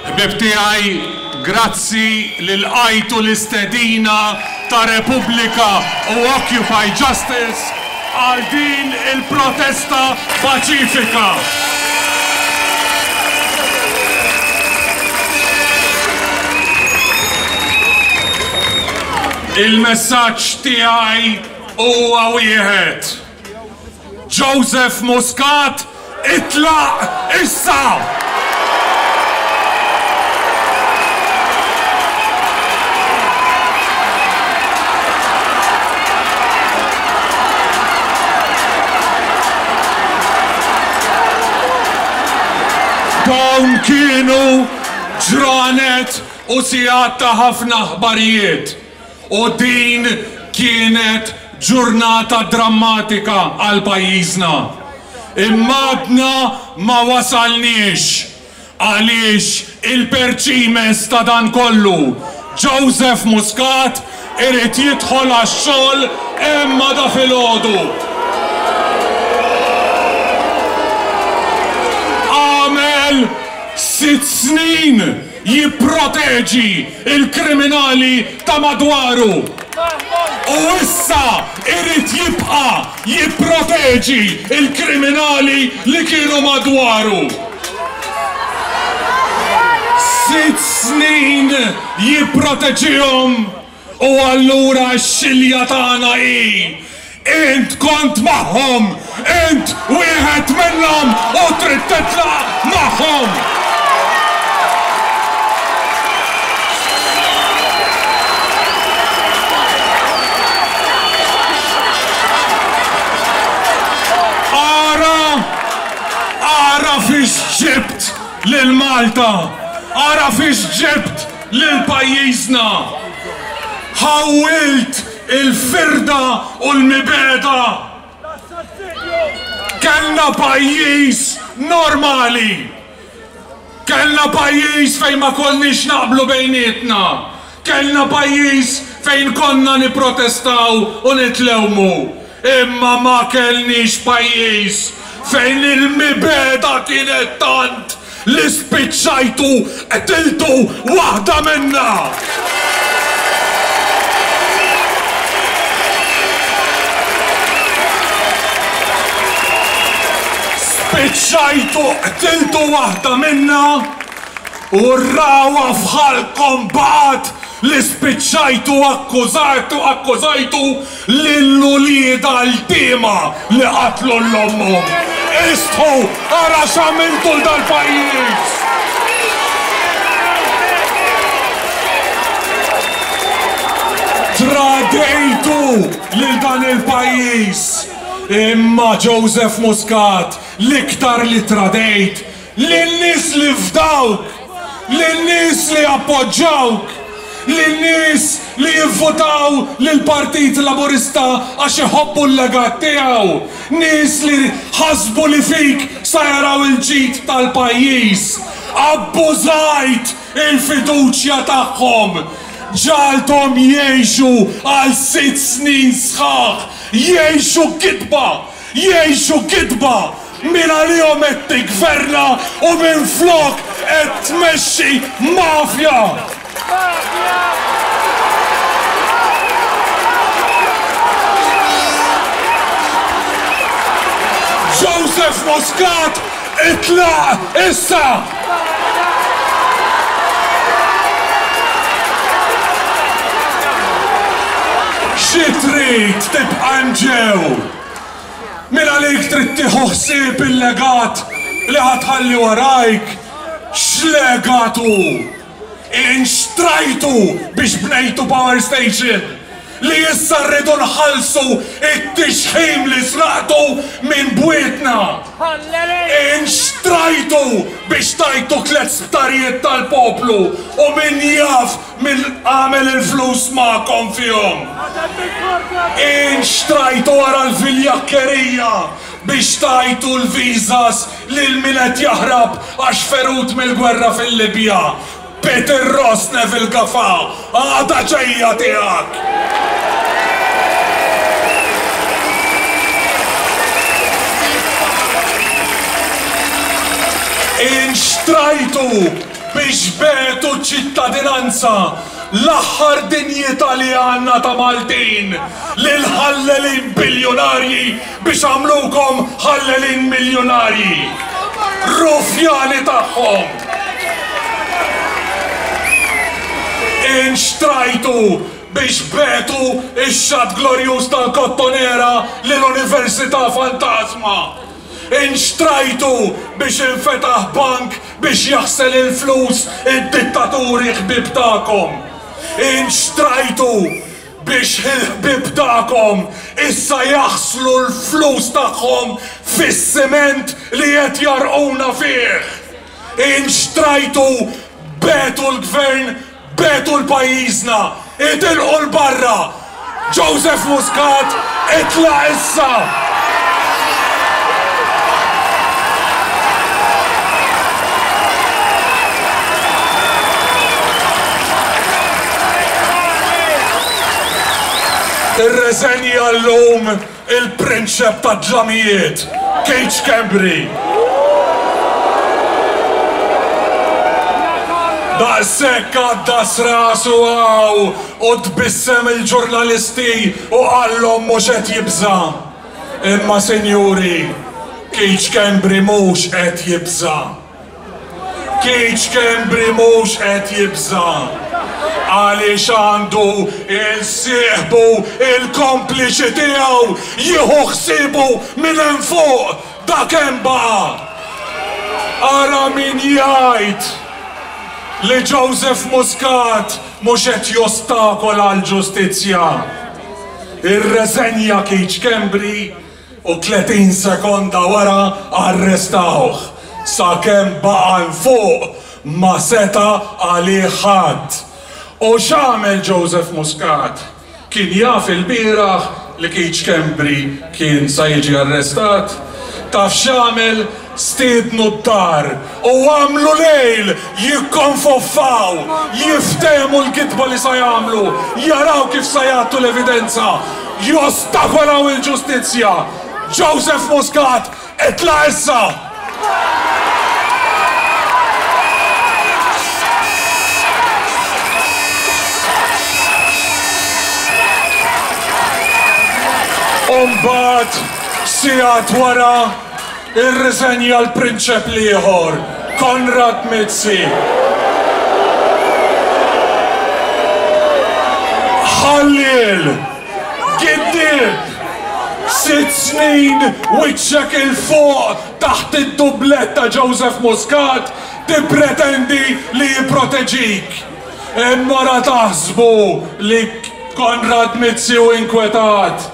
Ħbieb tiegħi, grazzi li lqajtu l-istedina ta' Repubblika u Occupy Justice għal din il-protesta paċifika. Il-messaġġ tiegħi huwa wieħed. Joseph Muscat itlaq issa! Dawn kienu ġranet u sigħat ta' ħafna aħbarijiet. U din kienet ġurnata drammatika għal pajjiżna. Imma għadna ma wasalniex għaliex il-perċimes ta' dan kollu, Joseph Muscat irid jidħol għax-xogħol hemm għada filgħodu. Għamel sitt snin jipproteġi l-kriminali ta' madwaru u issa irid jibqa' jipproteġi l-kriminali li kienu madwaru. Sitt snin jipproteġihom U allura x-xilja tagħna hi, Int kont magħhom! Int wieħed minnhom u trid titlaq magħhom! Ara, ara fiex ġibt lil Malta! Ara fiex ġibt lil pajjiżna. Ħawwilt il-firda u l-mibegħda. Kellna pajjiż normali. Kellna pajjiż fejn ma konniex naqblu bejnietna. Kellna pajjiż fejn konna nipprotestaw u nitlewmu. Imma ma kellniex pajjiż fejn il-mibegħda kienet tant li spiċċajtu qtiltu waħda minna! Spiċċajtu qtiltu waħda minna u r-ragħwa f'ħalqkom baqgħet li spiċċajtu akkużatu akkużajtu Lil uliedha ltiema li qatlu 'l ommhom. Istħu, ara x'għamiltu 'l dal-pajjiż! Tradejtu lil dan il-pajjiż! Imma Joseph Muscat, l-iktar li tradejt Lin-nies li fdawk, lin-nies li appoġġawk, lin-nies li jivvutaw lill-Partit Laburista għax iħobbu l-legat tiegħu, nies li ħasbu li fik sa jaraw il-ġid tal-pajjiż. Abbużajt il-fiduċja tagħhom. Ġagħalthom jgħixu għal sitt snin sħaħ jgħixu gidba, jgħixu gidba! Min għalihom qed tiggverna u minflok qed tmexxi mafja! Joseph Muscat itlaq issa! Xi trid tibqa' hemm ġew? Min għalik trid tieħu ħsieb il-legat li ħa tħalli warajk? X'legat hu? Inxtrajtu biex bnejtu power station li issa rridu nħallsu t-tixħim li sraqtu minn bwietna. Inxtrajtu biex tajtu tlett sptarijiet tal-poplu u min jaf Min għamel il-flus magħkom fihom? Inxtrajtu wara l-viljakkerija biex tajtu l-visas lil min qed jaħrab għax ferut mill-gwerra fil-Libja. Peter Ross Neville Gafà, għada ġejja tiegħek! Inxtrajtu! biex begħtu ċ-ċittadinanza, l-aħħar dinjità li għandna ta' Maltin, lil ħallelin biljunarji biex għamlukom ħallelin miljunarji. Rufjani tagħhom! Inxtrajtu biex begħtu x-xatt glorjuż tal-Kottonera lil università fantażma. Inxtrajtu biex infetaħ bank biex jaħsel il-flus id-dittaturi ħbieb tagħkom. Inxtrajtu biex il-ħbieb tagħkom issa jaħslu l-flus tagħhom fis-siment li qed jgħarrquna fih. Inxtrajtu begħtu l-Gvern Begħtu 'l pajjiżna, itilqu 'l barra! Joseph Muscat itlaq issa! Irreżenja llum Il-prinċep tad-dlamijiet, Keith Schembri. Daqshekk għaddas rasu hawn u tbissem il-ġurnalisti u qallhom mhux qed jibża'. Imma sinjuri, Keith Schembri mhux qed jibża'. Keith Schembri mhux qed jibża' għaliex għandu 'il sieħbu il-kompliċi tiegħu jieħu ħsiebu minn hemm fuq, dak hemm baqa'. Ara min jgħid li Joseph Muscat mhux qed jostakola l-ġustizzja. Irreżenja Keith Schembri u 30 sekonda wara arrestawh. Sakemm baqa' 'l fuq ma seta' għalih ħadd. U x'għamel Joseph Muscat? Kien jaf ilbieraħ li Keith Schembri kien sa jiġi arrestat? Taf x'għamel? Stiednu d-dar u għamlu lejl jikkonfoffaw, jiftehmu l-gidba li sa jagħmlu, jaraw kif sa jgħattu l-evidenza, jostakolaw il-ġustizzja. Joseph Muscat, itla' issa! U mbagħad, sigħat wara, Irriżenja l-prinċep l-ieħor, Konrad Mizzi. Ħalliel! Giddieb! Sitt snin wiċċek 'il fuq taħt id-dublett ta' Joseph Muscat tippretendi li jipproteġik. Imma ra taħsbu li Konrad Mizzi hu inkwetat.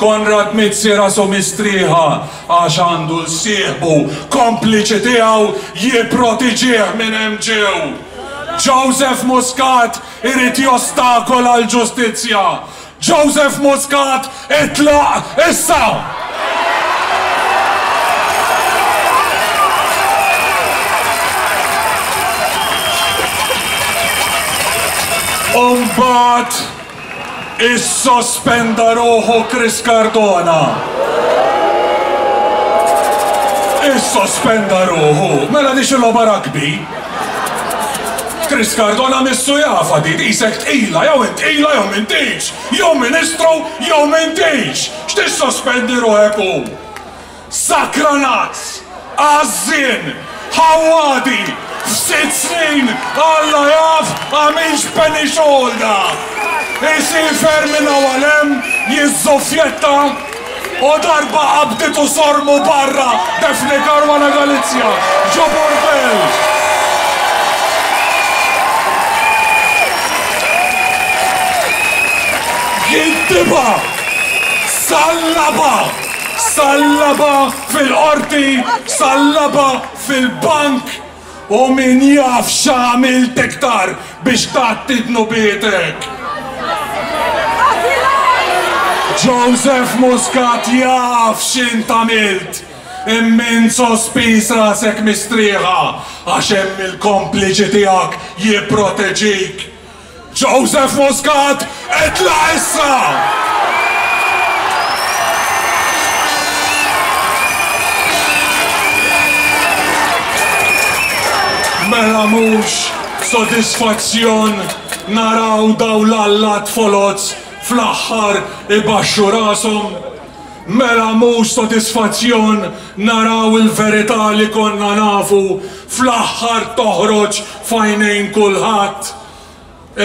Konrad Mizzi rasu mistrieħa għax għandu 'l sieħbu kompliċi tiegħu jipprotiġih minn hemm ġew. Joseph Muscat irid jostakola l-ġustizzja. Joseph Muscat itlaq issa! U mbagħad Issospenda ruħu Chris Cardona. Issospenda ruħu. Mela di xi logħba rugby? Chris Cardona missu jafha di, qisek tqila, jew int tqila jew m'intix, jew ministru jew m'intix. X'tissospendi ruħek hu? Sakranazz! Għażżien! Ħawwadi! F'sitt snin Alla jaf għamilx penny xogħol da! Isiefer minn hawn għal hemm, jiżżuffjetta u darba qabditu sormu barra Daphne Caruana Galizia ġo burdell! Giddibha! Sallabha! Sallabha fil-qorti, sallabha fil-bank u min jaf x'għamilt iktar biex tgħatti dnubietek. Joseph Muscat jaf x'int għamilt, imma int sospiż rasek mistrieħa għax hemm il-kompliċi tiegħek jipproteġik. Joseph Muscat, itlaq issa! Mela mhux sodisfazzjon naraw dawn l-allat foloz fl-aħħar ibaxxu rashom? Mela mhux sodisfazzjon naraw il-verità li konna nafu fl-aħħar toħroġ f'għajnejn kulħadd?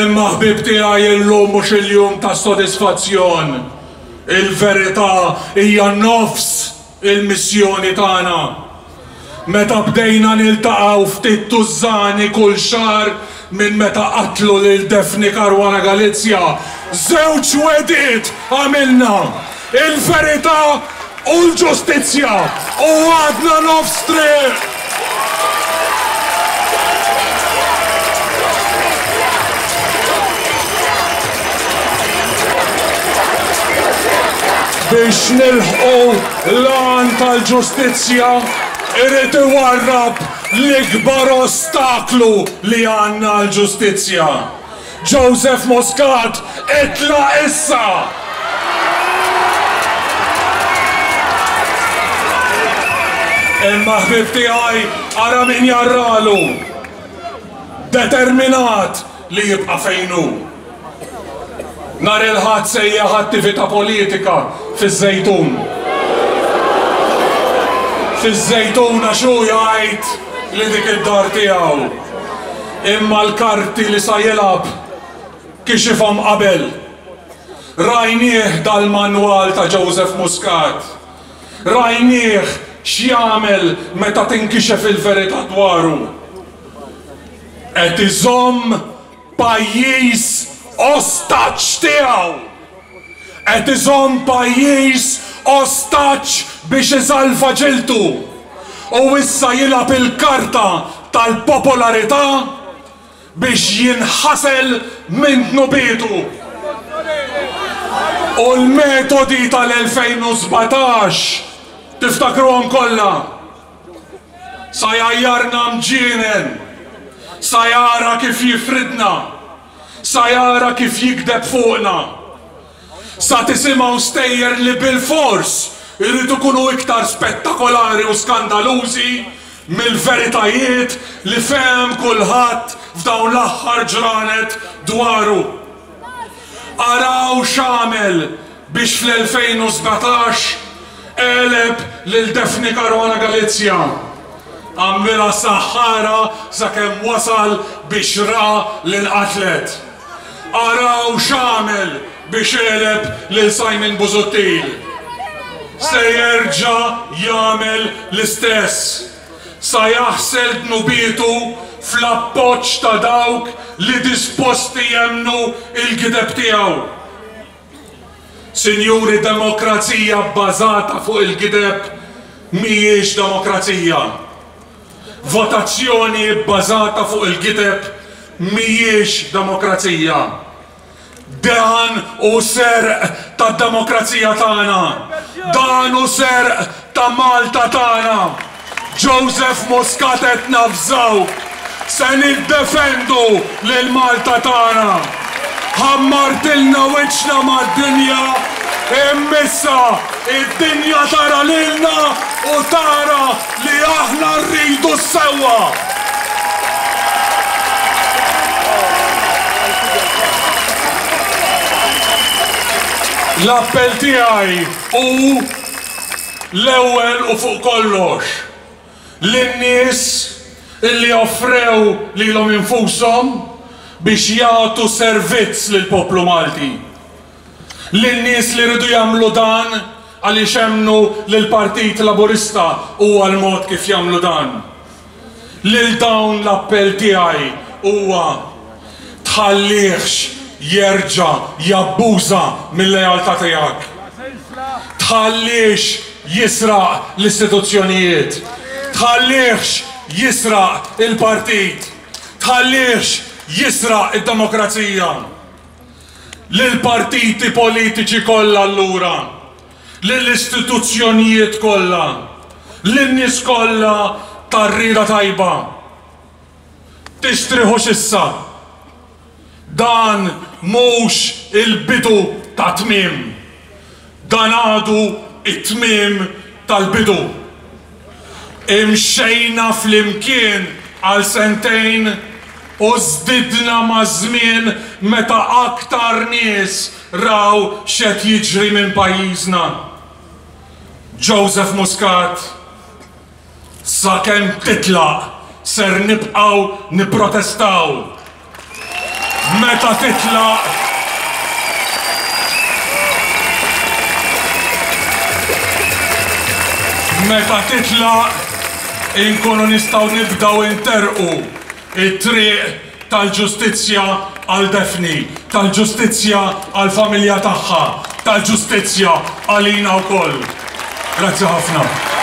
Imma ħbieb tiegħi illum mhux il-jum tas-sodisfazzjon. Il-verità hija nofs il-missjoni tagħna. Meta bdejna niltaqgħu ftit tużżani kull xahar minn meta qatlu lil Daphne Caruana Galizia, żewġ wegħdiet għamilna, il-verità u l-ġustizzja, u għadna nofs triq! Biex nilħqu l-għan tal-ġustizzja irid iwarrab l-ikbar ostaklu li għandna għall-ġustizzja. Joseph Muscat itlaq issa! Imma ħbieb tiegħi ara min jarralu. Determinat li jibqa' fejn hu. Nhar il-Ħadd sejjaħ attività politika fiż-Żejtun. Fiż-Żejtun għax hu jgħid li dik id-dar tiegħu. Imma l-karti li sa jilgħab kixifhom qabel. Rajnieh dal-manwal ta' Joseph Muscat. Rajnieh x'jagħmel meta tinkixef il-verità dwaru. Qed iżomm pajjiż ostaġġ tiegħu! Qed iżomm pajjiż ostaġġ biex isalva ġildu! U issa jilgħab il-karta tal-popolarità biex jinħasel minn dnubietu! U l-metodi tal-2017 tiftakruhom kollha? Sa jgħajjarna mġienen. Sa jara kif jifridna. Sa jara kif jigdeb fuqna. Sa tisimgħu stejjer li bilfors iridu jkunu iktar spettakolari u skandalużi mill-veritajiet li fehem kulħadd f'dawn l-aħħar ġranet dwaru. Araw x'għamel biex fl-2017 għeleb lil Daphne Caruana Galizia. Għamilha saħħara sakemm wasal biex ra li nqatlet. Araw x'għamel biex għeleb lil Simon Busuttil. Se jerġa' jagħmel l-istess. Sa jaħsel dnubietu fl-appoġġ ta' dawk li disposti jemmnu l-gideb tiegħu. Sinjuri demokrazija bbażata fuq il-gideb mhijiex demokrazija. Votazzjoni bbażata fuq il-gideb mhijiex demokrazija. Dan hu serq tad-demokrazija tagħna. Dan hu serq ta' Malta tagħna. Joseph Muscat qed navżawk, se niddefendu lil Malta tagħna. Ħammartilna wiċċna mad-dinja, imma issa id-dinja tara lilna u tara li aħna rridu s-sewwa. L-appell tiegħi hu L-ewwel u fuq kollox, lin-nies illi offrew lilhom infushom biex jagħtu servizz lill-poplu Malti. Lin-nies li riedu jagħmlu dan għaliex emmnu li l-Partit Laburista huwa l-mod kif jagħmlu dan. Lil dawn l-appell tiegħi huwa, tħallihx jerġa' jabbuża mil-lealtà tiegħek. Tħallihx jisraq l-istituzzjonijiet. Tħallihx jisraq il-partit. Tħallihx jisraq id-demokrazija. Lill-partiti politiċi kollha allura, lill-istituzzjonijiet kollha, lin-nies kollha tar-rieda tajba, Tistrieħux issa! Dan mhux il-bidu tat-tmiem. Dan għadu t-tmiem tal-bidu. Imxejna flimkien. għal sentejn u żdidna maż-żmien meta aktar nies raw x'qed jiġri minn pajjiżna. Joseph Muscat, sakemm titlaq ser nibqgħu nipprotestaw. Meta titlaq Meta titlaq inkunu nistgħu nibdew interrqu t-triq tal-ġustizzja għal Daphne, tal-ġustizzja għall-familja tagħha, tal-ġustizzja għalina wkoll. Grazzi ħafna.